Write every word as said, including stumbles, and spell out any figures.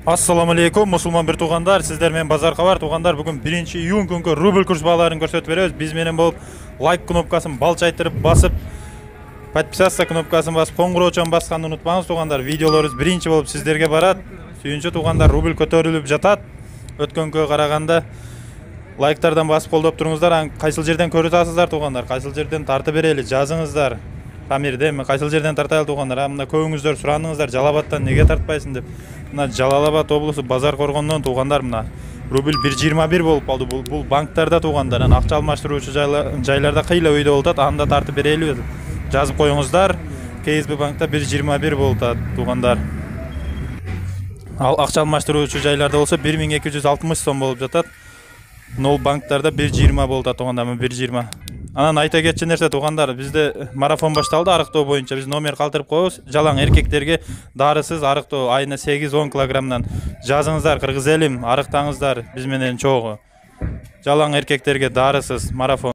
Assalamu alaikum musulmon bir tug'anlar, sizlar men Bazar Xabar tug'anlar. Bugun birinchi iyun kunki rubl kurs бағаларын көрсөтүп беребиз. Биз менен болуп лайк кнопкасын балчайтырып басып, подписаться кнопкасын басып, коңгуроочун басканды унутпаңыз тug'андар. Видеолорубуз биринчи болуп сиздерге барат. Сүйүнчү тug'андар, рубль көтөрүлүп жатат. Өткөнгө караганда лайктардан басып колдоп туруңуздар. Ан кайсыл жерден көрүп атасыздар тug'андар? Кайсыл жерден тартып берели, жазыңыздар. Памирде мен кайсыл жерден тартайлы тug'андар? Мына көбүңүздөр сурандыңыздар, Жалалабадтан неге тартпайсың деп. Мына Жалалабад облусу Базар Коргондон тug'андар мына рубль бир жыйырма бир болуп калды. Бул бул банктарда тug'андар, аны акча алмаштыруучу жайларда кыйла өйдө болуп атат. Анда тартып берели жазып коюңуздар. КСБ банкта бир жыйырма бир болуп атат тug'андар. Ал акча алмаштыруучу жайларда болсо бир миң эки жүз алтымыш сом болуп жатат. Нол банктарда бир жыйырма болуп атат тug'андар, бир жыйырма. Анан айта кетчү нерсе тug'андар, бизде марафон башталды арыктоо боюнча. Биз номер калтырып коебуз. Жалаң эркектерге дарысыз арыктоо айына сегиз он килограммдан жазыңыздар, кыргыз элим, арыктаңыздар биз менен чогуу. Жалаң эркектерге дарысыз марафон.